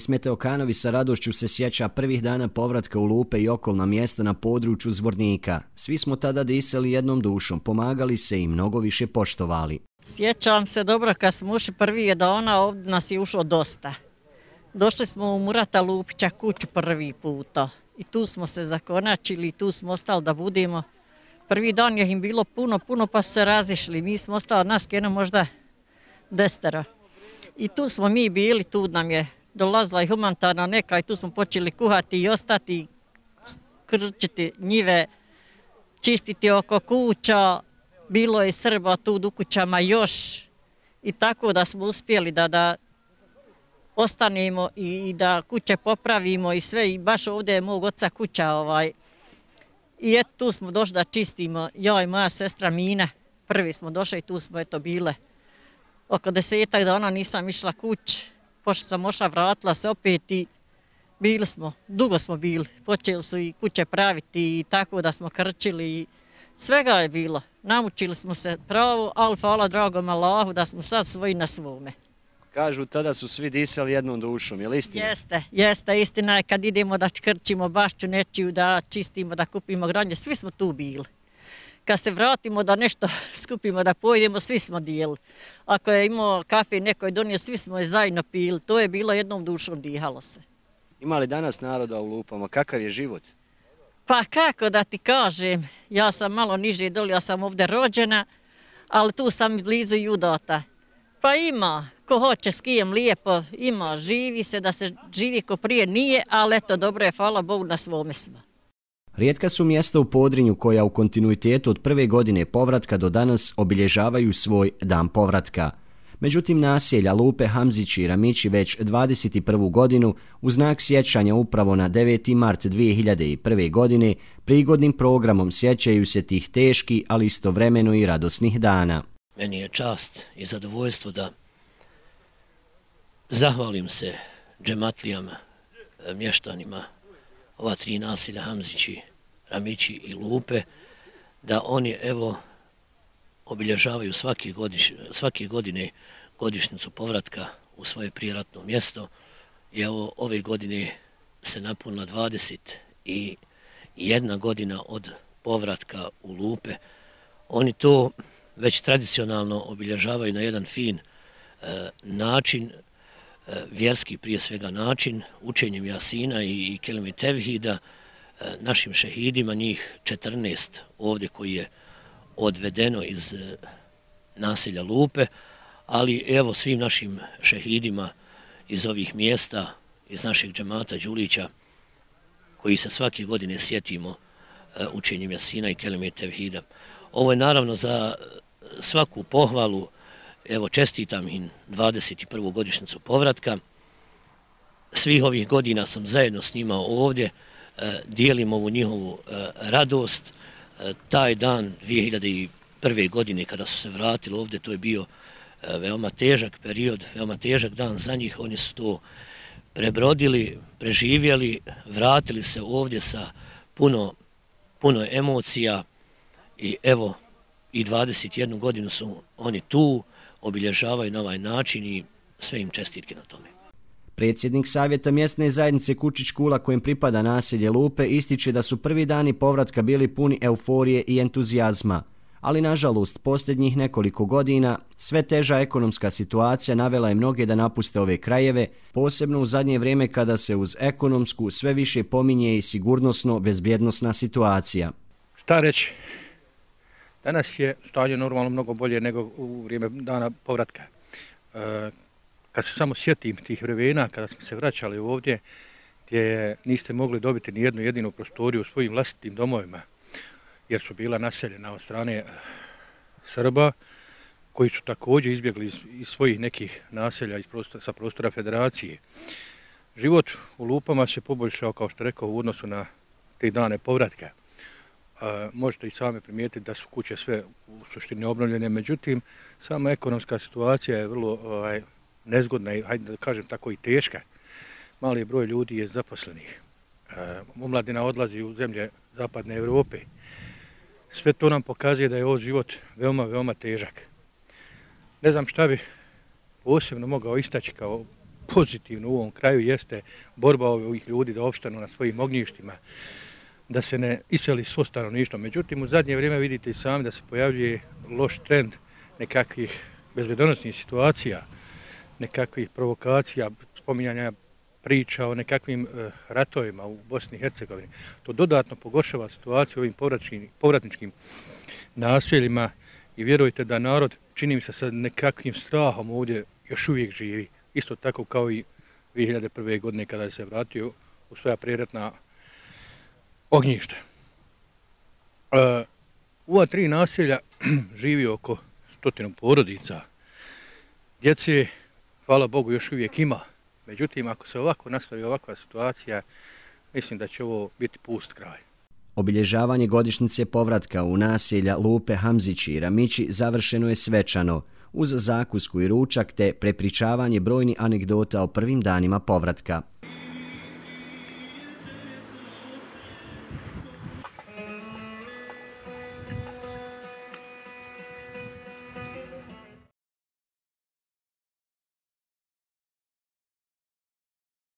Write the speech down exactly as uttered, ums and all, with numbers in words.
Ismet Okanović sa radošću se sjeća prvih dana povratka u Lupe i okolna mjesta na području Zvornika. Svi smo tada disali jednom dušom, pomagali se i mnogo više poštovali. Sjećam se dobro kad smo ušli prvi dana, ovdje nas je ušlo dosta. Došli smo u Murata Lupića kuću prvi puta i tu smo se zakonačili i tu smo ostali da budemo. Prvi dan je im bilo puno, puno pa su se razišli. Mi smo ostali, nas jedno možda desetero. I tu smo mi bili, tu nam je dolazila i humanitarna neka i tu smo počeli kuhati i ostati, krčiti njive, čistiti oko kuća. Bilo je Srba tu u kućama još i tako da smo uspjeli da, da ostanemo i da kuće popravimo i sve. I baš ovdje je mog oca kuća. Ovaj. I eto tu smo došli da čistimo, ja i moja sestra Mina. Prvi smo došli i tu smo eto bile. Oko desetak dana nisam išla kuć, pošto sam ošla, vratila se opet i bili smo, dugo smo bili. Počeli su i kuće praviti i tako da smo krčili i svega je bilo. Namučili smo se pravo, ali hvala dragom Allahu da smo sad svoji na svome. Kažu, tada su svi disali jednom dušom, je li istina? Jeste, jeste, istina je kad idemo da krčimo bašću nečiju, da čistimo, da kupimo granje, svi smo tu bili. Kad se vratimo da nešto skupimo, da pojedemo, svi smo dijeli. Ako je imao kafe, neko je donio, svi smo je zajedno pili. To je bilo jednom dušom, dihalo se. Ima li danas naroda u Lupama? Kakav je život? Pa kako da ti kažem, ja sam malo niže doli, ja sam ovdje rođena, ali tu sam blizu i udata. Pa ima, ko hoće s kijem lijepo, ima, živi se, da se živi ko prije nije, ali eto, dobro je, hvala Bogu, na svome smo. Rijetka su mjesta u Podrinju koja u kontinuitetu od prve godine povratka do danas obilježavaju svoj dan povratka. Međutim, naselja Lupe, Hamzići i Ramići već dvadeset prvu godinu u znak sjećanja upravo na deveti mart dvije hiljade prve. godine prigodnim programom sjećaju se tih teških, ali istovremeno i radosnih dana. Meni je čast i zadovoljstvo da zahvalim se džematlijama, mještanima ova tri naselja Hamzići, Ramići i Lupe, da oni evo obilježavaju svake, godiš, svake godine godišnjicu povratka u svoje prijeratno mjesto i evo ove godine se napunila dvadeset jedna godina od povratka u Lupe. Oni to već tradicionalno obilježavaju na jedan fin e, način, e, vjerski prije svega način, učenjem Jasina i, i Kelime Tevhida, e, našim šehidima, njih četrnaest ovdje koji je odvedeno iz e, naselja Lupe, ali evo svim našim šehidima iz ovih mjesta, iz našeg džemata Đulića, koji se svake godine sjetimo e, učenjem Jasina i Kelime Tevhida. Ovo je naravno za svaku pohvalu, evo čestitam im dvadeset prvu godišnjicu povratka. Svih ovih godina sam zajedno s njima ovdje, e, dijelim ovu njihovu e, radost. E, taj dan dvije hiljade prve. godine kada su se vratili ovdje, to je bio e, veoma težak period, veoma težak dan za njih. Oni su to prebrodili, preživjeli, vratili se ovdje sa puno, puno emocija i evo i dvadeset jednu godinu su oni tu, obilježavaju na ovaj način i sve im čestitke na tome. Predsjednik Savjeta mjesne zajednice Kučić Kula, kojem pripada naselje Lupe, ističe da su prvi dani povratka bili puni euforije i entuzijazma. Ali nažalost, posljednjih nekoliko godina sve teža ekonomska situacija navela je mnoge da napuste ove krajeve, posebno u zadnje vrijeme kada se uz ekonomsku sve više pominje i sigurnosno-bezbjednosna situacija. Šta reći? Danas je stanje normalno mnogo bolje nego u vrijeme dana povratka. E, kad se samo sjetim tih vremena, kada smo se vraćali ovdje, gdje niste mogli dobiti ni jednu jedinu prostoriju u svojim vlastitim domovima, jer su bila naseljena od strane Srba, koji su također izbjegli iz, iz svojih nekih naselja iz prostora, sa prostora federacije. Život u Lupama se poboljšao, kao što rekao, u odnosu na te dane povratka. Uh, možete i sami primijetiti da su kuće sve u suštini obnovljene, međutim, sama ekonomska situacija je vrlo ovaj, nezgodna i, hajde da kažem tako, i teška. Mali broj ljudi je zaposlenih. Uh, omladina odlazi u zemlje zapadne Europe. Sve to nam pokazuje da je ovaj život veoma, veoma težak. Ne znam šta bi posebno mogao istaći kao pozitivno u ovom kraju jeste borba ovih ljudi da opstanu na svojim ognjištima, da se ne iseli svo stanovništvo. Međutim, u zadnje vrijeme vidite i sami da se pojavljuje loš trend nekakvih bezbednosnih situacija, nekakvih provokacija, spominjanja priča o nekakvim uh, ratovima u Bosni i Hercegovini. To dodatno pogoršava situaciju u ovim povratničkim naseljima i vjerujte da narod, čini mi se, sa nekakvim strahom ovdje još uvijek živi. Isto tako kao i dvije hiljade prve. godine kada je se vratio u svoja prijeratna ognjišta. Uh, u ova tri naselja živi oko stotinu porodica. Djece, hvala Bogu, još uvijek ima. Međutim, ako se ovako nastavi ovakva situacija, mislim da će ovo biti pust kraj. Obilježavanje godišnjice povratka u naselja Lupe, Hamzići i Ramići završeno je svečano, uz zakusku i ručak te prepričavanje brojnih anegdota o prvim danima povratka.